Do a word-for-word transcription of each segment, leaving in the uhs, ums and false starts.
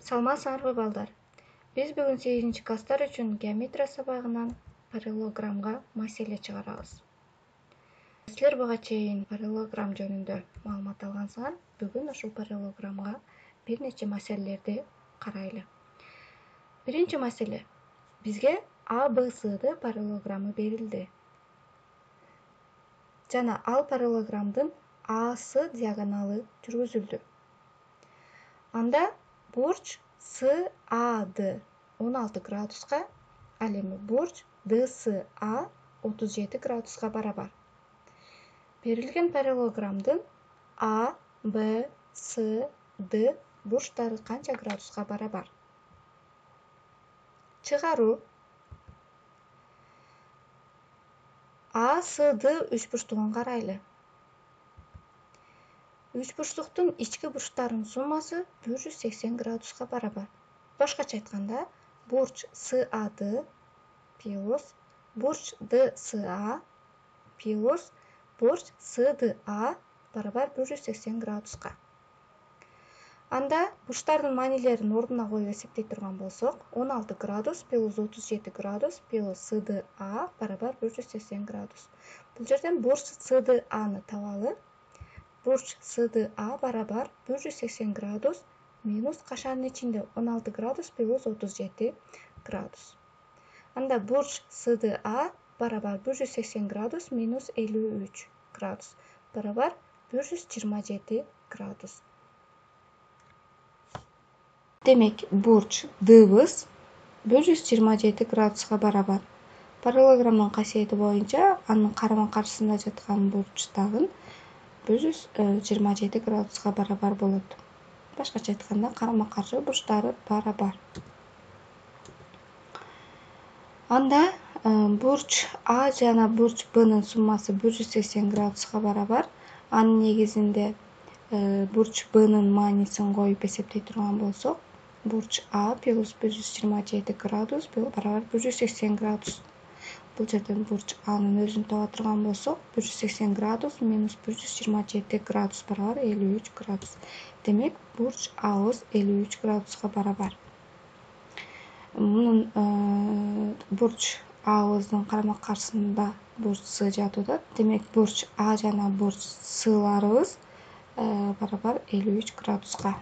Саламатсыңарбы балдар? Биз бүгүн сегизинчи класстар үчүн геометрия сабагынан параллелограммга маселе чыгарабыз. Силер буга чейин параллелограмм жөнүндө маалымат алгансыңар. Бүгүн ушул параллелограммга бир нече маселелерди карайлы. Биринчи маселе. Бизге А Б Сды параллелограммы берилди. Жана ал параллелограммдын Асы диагоналы жүргүзүлдү. Анда бурч С А Д он алты градуска, ал эми бурч Д С А отуз жети градуска барабар. Берилген параллелограммдын А, Б, С, Д бурчтары канча градуска барабар? Чыгаруу. А, С, Д үч бурчтугун карайлы. Үч бурчтуктун ички бурчтарынын суммасы бир жүз сексен градуска барабар. Башкача айтканда, бурч С А Д плюс бурч Д С А плюс бурч С Д А барабар бир жүз сексен градуска. Анда бурчтардын маанилерин ордуна коюп эсептей турган болсок, он алты градус плюс отуз жети градус плюс С Д А барабар бир жүз сексен градус. Бул жерден бурч С Д Аны табалы. Бурч С Д А барабар бир жүз сексен градус минус кашанын ичинде он алты градус плюс отуз жети градус. Анда бурч С Д А барабар бир жүз сексен градус минус элүү үч градус барабар бир жүз жыйырма жети градус. Демек, бурч Дыбыз бир жүз жыйырма жети градуска барабар. Параллелограммдын касиети боюнча анын карама-каршысында жаткан бурч дагы бир жүз жыйырма жети градуска барабар болот. Башкача айтканда, карама-каршы бурчтары барабар. Анда бурч А жана бурч Бнын суммасы бир жүз сексен градуска барабар. Анын негизинде бурч Бнын маанисин коюп эсептей турган болсок, бурч А плюс бир жүз жыйырма жети градус барабар бир жүз сексен градус. Бул жерден бурч Анын өзүн таба турган болсок, бир жүз сексен градус минус бир жүз жыйырма жети градус барабар элүү үч градус. Демек, бурч Абыз элүү үч градуска барабар. Мунун бурч Абыздын карама-каршысында бурч С жатууда. Демек, бурч А жана бурч Сларыбыз барабар элүү үч градуска.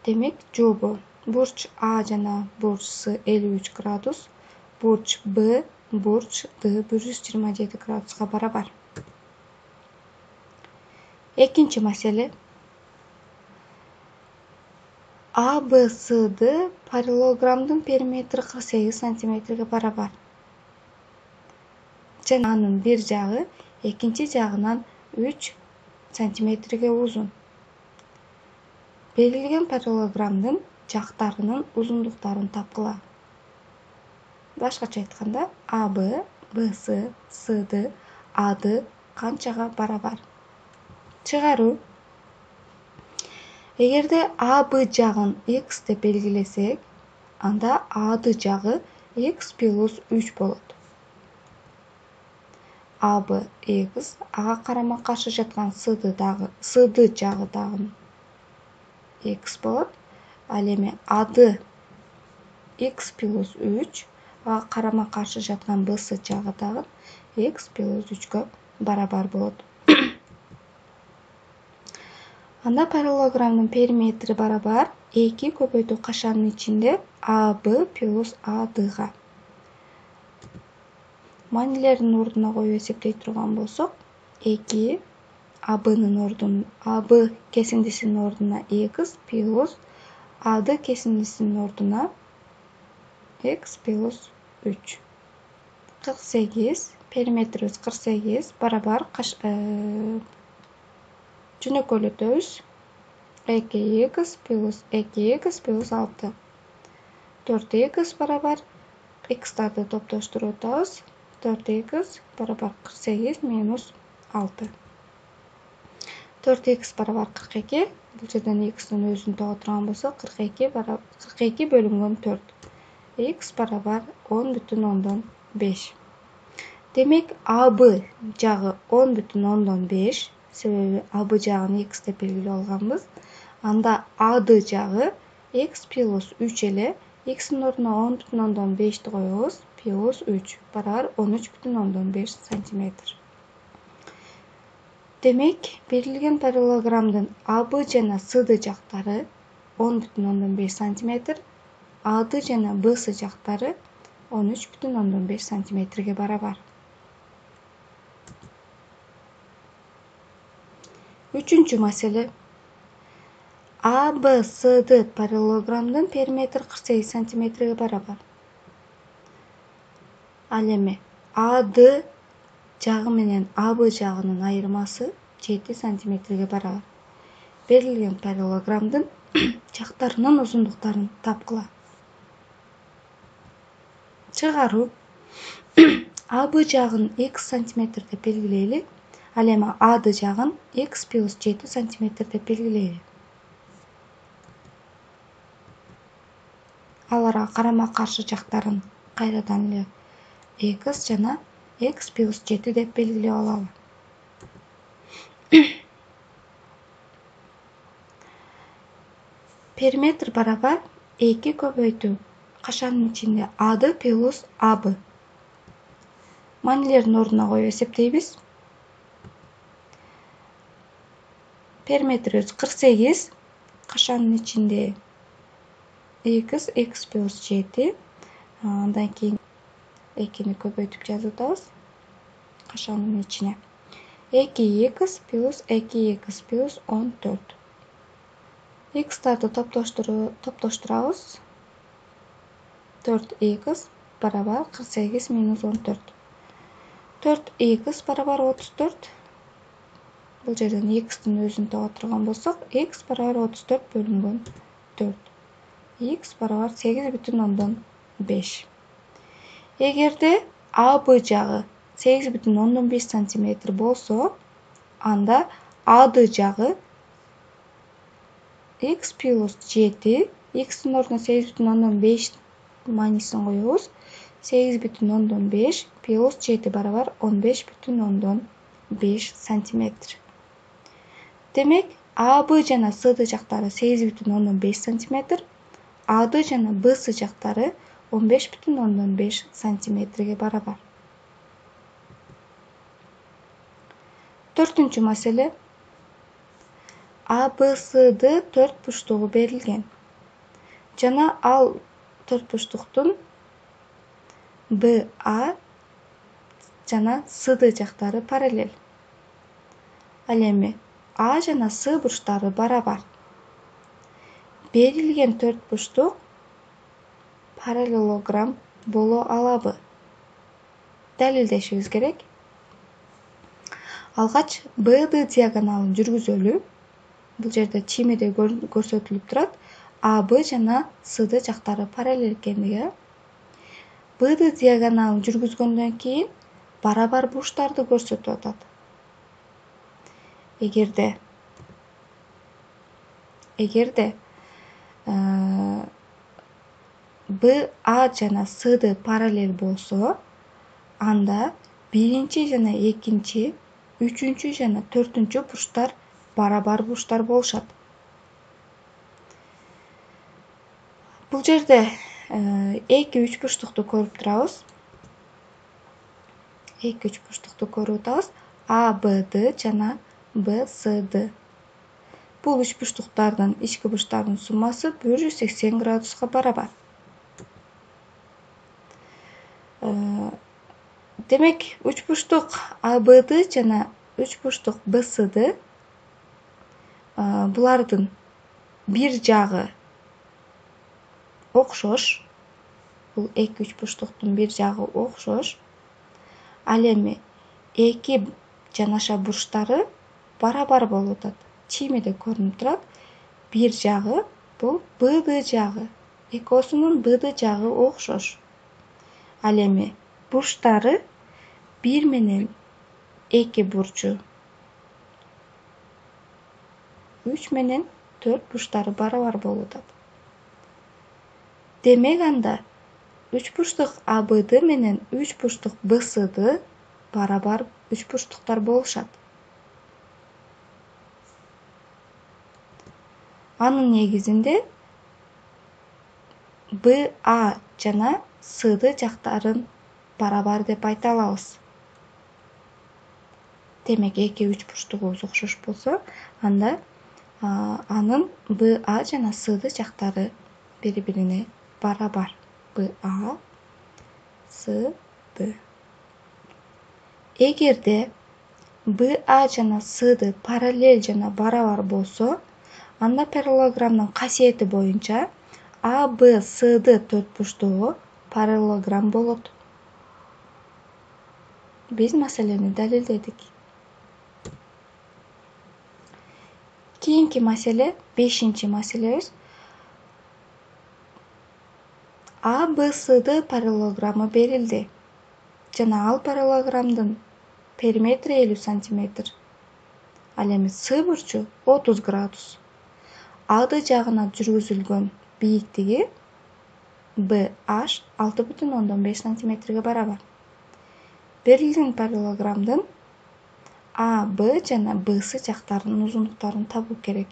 Демек, жообу бурч А жана бурч С элүү үч градус, бурч Б, бурч Д бир жүз жыйырма жети градуска барабар. Экинчи маселе. А Б С Д параллелограммдын периметри кырк сегиз сантиметрге барабар. Жана анын бир жагы экинчи жагынан үч сантиметрге узун. Берилген параллелограммдын жактарынын узундуктарын тапкыла. Башкача айтканда, А Б, Б С, С Д, А Д канчага барабар? Чыгаруу. Эгерде А Б жагын X деп белгилесек, анда А Д жагы X плюс үч болот. А Б X, ага карама-каршы жаткан С Д дагы, С Д жагы дагы X болот. Ал эми А Д X плюс үч, ага карама-каршы жаткан Б С жагы дагы X плюс үчкө барабар болот. Анда параллелограммдын периметри барабар эки көбөйтүү кашанын ичинде А Б плюс А Дга. Маанилерин ордуна коюп эсептей турган болсок, эки А Бнын ордуна, А Б кесиндисинин ордуна X плюс А Д кесиндисинин ордуна X плюс үч. кырк сегиз, периметрибиз кырк сегиз барабар жөнөкөйлөтөбүз. эки X плюс эки X плюс алты. төрт X барабар X'тарды топтоштуруп атабыз. төрт X барабар кырк сегиз минус алты. төрт X барабар кырк эки. Бул жерден X'тин өзүн таба турган болсок, кырк эки барабар кырк эки бөлүнгөн төрт. X барабар он бүтүн ондон беш. Демек, А Б жагы он бүтүн ондон беш. Себеби А Б жагын X деп белгилеп алганбыз. Анда АД жагы x плюс үч эле x'ин ордуна он бүтүн ондон бешти коебуз, плюс үч барабар он үч бүтүн ондон беш сантиметр. Демек, берилген параллелограммдын АБ жана СД жактары он бүтүн ондон беш сантиметр, АД жана БС жактары он үч бүтүн ондон беш сантиметрге барабар. Үчүнчү маселе. АБСД параллелограммдын периметри кырк сегиз сантиметрге барабар. Ал эми АД жагы менен АБ жагынын айырмасы жети сантиметрге барабар. Берилген параллелограммдын жактарынын узундуктарын тапкыла. Чыгаруу. АБ жагын x сантиметр деп белгилейли. Ал эми АД жагын x плюс жети сантиметр деп белгилейли. Аларга карама-каршы жактарын кайрадан эле x жана x плюс жети деп белгилеп алалы. Периметр барабар эки көбөйтүү кашанын ичинде АД плюс АБ. Маанилердин ордуна коюп эсептейбиз. Периметрибиз кырк сегиз, кашанын ичинде x, x плюс жети. Андан кийин экини көбөйтүп жазып атабыз кашанын ичине. эки x плюс эки x плюс он төрт. X'тарды топтоштурабыз. төрт x барабар кырк сегиз минус он төрт. төрт x барабар отуз төрт. Бул жерден x'тин өзүн таба турган болсок, x барабар отуз төрт бөлүнгөн төрт. X барабар сегиз бүтүн ондон беш. Эгерде АБ жагы сегиз бүтүн ондон беш сантиметр болсо, анда АД жагы x плюс жети, x'ин ордуна сегиз бүтүн ондон беш маанисин коебуз. сегиз бүтүн ондон беш плюс жети барабар он беш бүтүн ондон беш сантиметр. Демек, АБ жана СД жактары сегиз бүтүн ондон беш сантиметр, АД жана БС жактары он беш бүтүн ондон беш сантиметрге барабар. Төртүнчү маселе. АБСД төрт бурчтугу берилген. Жана ал төрт бурчтуктун БА жана СД жактары параллель. Ал эми А жана С бурчтары барабар. Берилген төрт бурчтук параллелограмм боло алабы? Далилдешибиз керек. Алгач БД диагоналын жүргүзөлү. Бул жерде чиймеде көрсөтүлүп турат. АБ жана СД жактары параллель экендиги. БД диагоналын жүргүзгөндөн кийин барабар бурчтарды көрсөтүп атат. Эгерде эгерде БА жана СД параллель болсо, анда биринчи жана экинчи, үчүнчү жана төртүнчү бурчтар барабар бурчтар болушат. Бул жерде эки үч бурчтукту көрүп турабыз. эки үч бурчтукту көрүп атабыз. АБД жана БСД. Бул үч бурчтуктардын ички бурчтарынын суммасы бир жүз сексен градуска барабар. Демек, үч бурчтук АБД жана үч бурчтук БСД булардын бир жагы окшош. Бул эки үч бурчтуктун бир жагы окшош. Ал эми эки жанаша бурчтары барабар болуп атат. Чиймеде көрүнүп турат. Бир жагы бул БД жагы. Экөөсүнүн БД жагы окшош. Ал эми бурчтары бир менен эки бурчу, үч менен төрт бурчтары барабар болуп атат. Демек, анда үч бурчтук АБД менен үч бурчтук БСД барабар үч бурчтуктар болушат. Анын негизинде Б А жана Сды жактарын барабар деп айта алабыз. Демек эки үч бурчтугубуз окшош болсо, анда анын Б А жана Сды жактары бири-бирине барабар. Б А, С, Д. Эгерде Б А жана Сды параллель жана барабар болсо, анда параллелограммдын касиети боюнча А, Б, Сды төрт бурчтугу параллелограмм болот. Биз маселени далилдедик. Кийинки маселе, бешинчи маселебиз. А, Б, Сды параллелограммы берилди жана ал параллелограммдын периметри элүү сантиметр. Ал эми С бурчу отуз градус. Ады жагына жүргүзүлгөн бийиктиги Б H алты бүтүн ондон беш сантиметрге барабар. Берилген параллелограммдын А, Б жана Б С жактарынын узундуктарын табуу керек.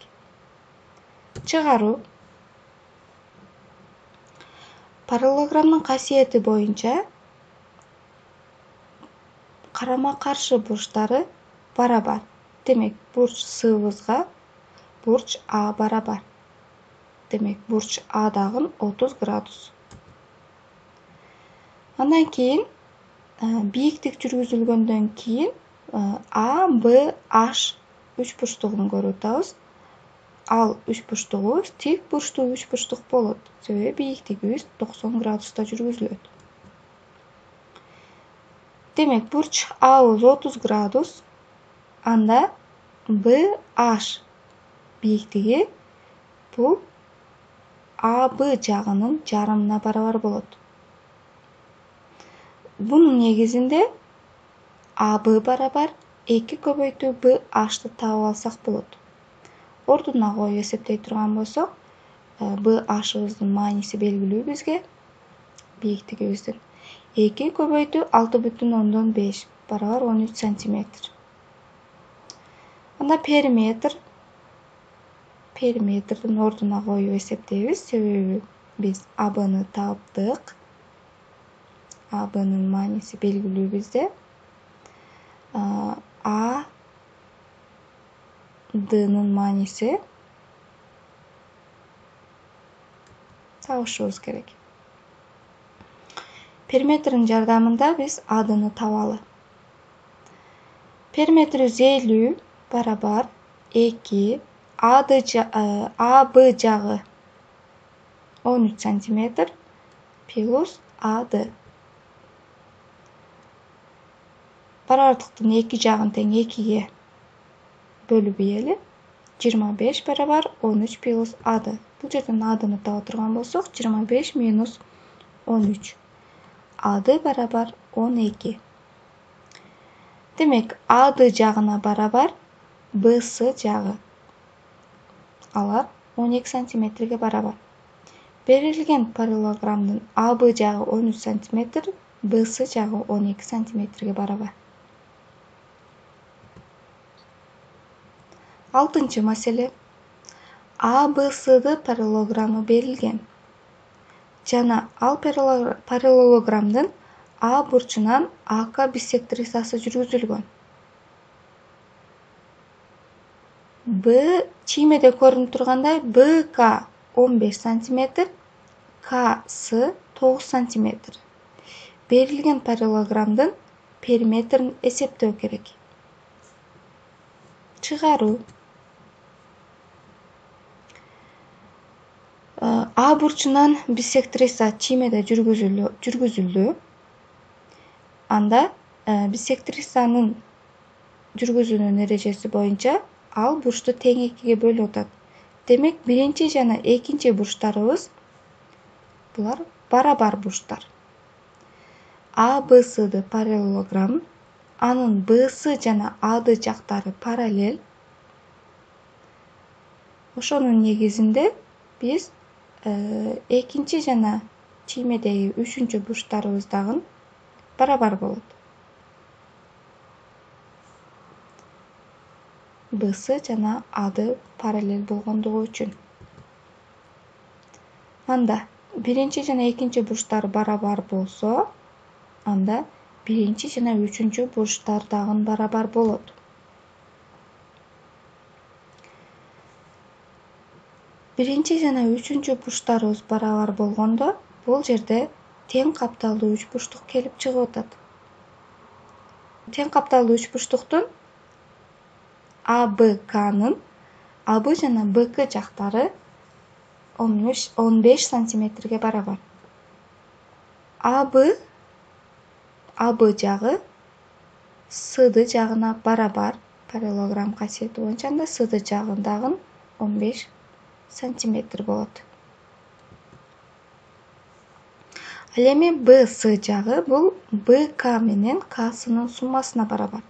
Чыгаруу. Параллелограммдын касиети боюнча карама-каршы бурчтары барабар. Демек, бурч Сыбызга бурч А барабар. Демек, бурч А дагы отуз градус. Андан кийин бийиктик жүргүзүлгөндөн кийин А, Б, H үч бурчтугун көрүп атабыз. Ал үч бурчтугубуз тик бурчтуу үч бурчтук болот. Себеби бийиктигибиз токсон градуста жүргүзүлөт. Демек, бурч A'быз отуз градус. Анда Б H бийиктиги бул А, Б жагынын жарымына барабар болот. Бунун негизинде А, Б барабар эки көбөйтүү Б H'ты таап алсак болот. Ордуна коюп эсептей турган болсок, Б H'ыбыздын мааниси белгилүү бизге, бийиктигибиздин. эки көбөйтүү алты бүтүн ондон беш барабар он үч сантиметр. Анда периметр. Периметрдин ордуна коюп эсептейбиз, себеби биз А, Б'ны таптык. А, Б'нын мааниси белгилүү бизде. А, Д'нын мааниси табышыбыз керек. Периметрдин жардамында биз A'ны табалы. Периметри жүз элүү барабар эки А, Б жагы он үч сантиметр плюс А, Д. Барабардыктын эки жагын тең экиге бөлүп ийели. жыйырма беш барабар он үч плюс А, Д. Бул жерден A'ны таба турган болсок, жыйырма беш минус он үч. А, Д барабар он эки. Демек, А, Д жагына барабар Б С жагы. Алар он эки сантиметрге барабар. Берилген параллелограммдын А, Б жагы он үч сантиметр, Б С жагы он эки сантиметрге барабар. Алтынчы маселе. А, Б, Сды параллелограммы берилген жана ал параллелограммдын А бурчунан А К биссектрисасы жүргүзүлгөн. Б чиймеде көрүнүп тургандай Б К он беш сантиметр, К С тогуз сантиметр. Берилген параллелограммдын периметрин эсептөө керек. Чыгаруу. А бурчунан биссектриса чиймеде жүргүзүлдү. Анда биссектрисанын жүргүзүүнүн эрежеси боюнча ал бурчту тең экиге бөлүп атат. Демек, биринчи жана экинчи бурчтарыбыз булар барабар бурчтар. А, Б, Сды параллелограмм, анын Б С жана А, Д жактары параллель. Ошонун негизинде биз экинчи жана чиймедеги үчүнчү бурчтарыбыз дагы барабар болот. Б С жана А, Д параллель болгондугу үчүн. анда биринчи жана экинчи бурчтар барабар болсо, анда биринчи жана үчүнчү бурчтар дагы барабар болот. Биринчи жана үчүнчү бурчтарыбыз барабар болгондо, бул жерде тең капталдуу үч бурчтук келип чыгып атат. Тең капталдуу үч бурчтуктун А Б Кнын А Б жана Б К жактары он беш сантиметрге барабар. А Б А Б жагы С Д жагына барабар параллелограмм касиети боюнча, анда С Д жагы дагы он беш сантиметр болот. Ал эми Б С жагы бул Б К менен Ксынын суммасына барабар.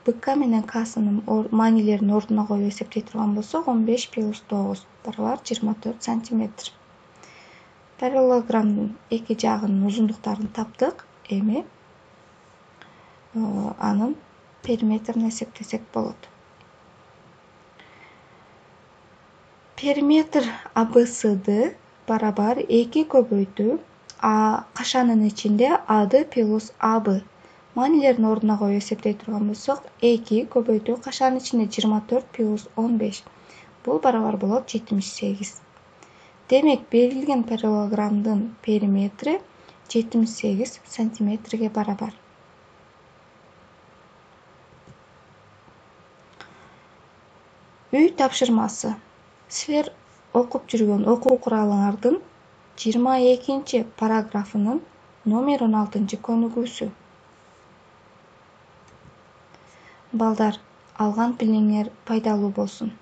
Б К менен Ксынын маанилерин ордуна коюп эсептей турган болсок, он беш плюс тогуз барабар жыйырма төрт сантиметр. Параллелограммдын эки жагынын узундуктарын таптык. Эми анын периметрин эсептесек болот. Периметр А Б С Д барабар эки көбөйтүү А кашанын ичинде А Д плюс А Б. Маанилерин ордуна коюп эсептей турган болсок, эки көбөйтүү кашанын ичинде жыйырма төрт плюс он беш. Бул барабар болот жетимиш сегиз. Демек, берилген параллелограммдын периметри жетимиш сегиз сантиметрге барабар. Үй тапшырмасы. Силер окуп жүргөн окуу куралыңардын жыйырма экинчи параграфынын номер он алтынчы көнүгүүсү. Балдар, алган билимиңер пайдалуу болсун.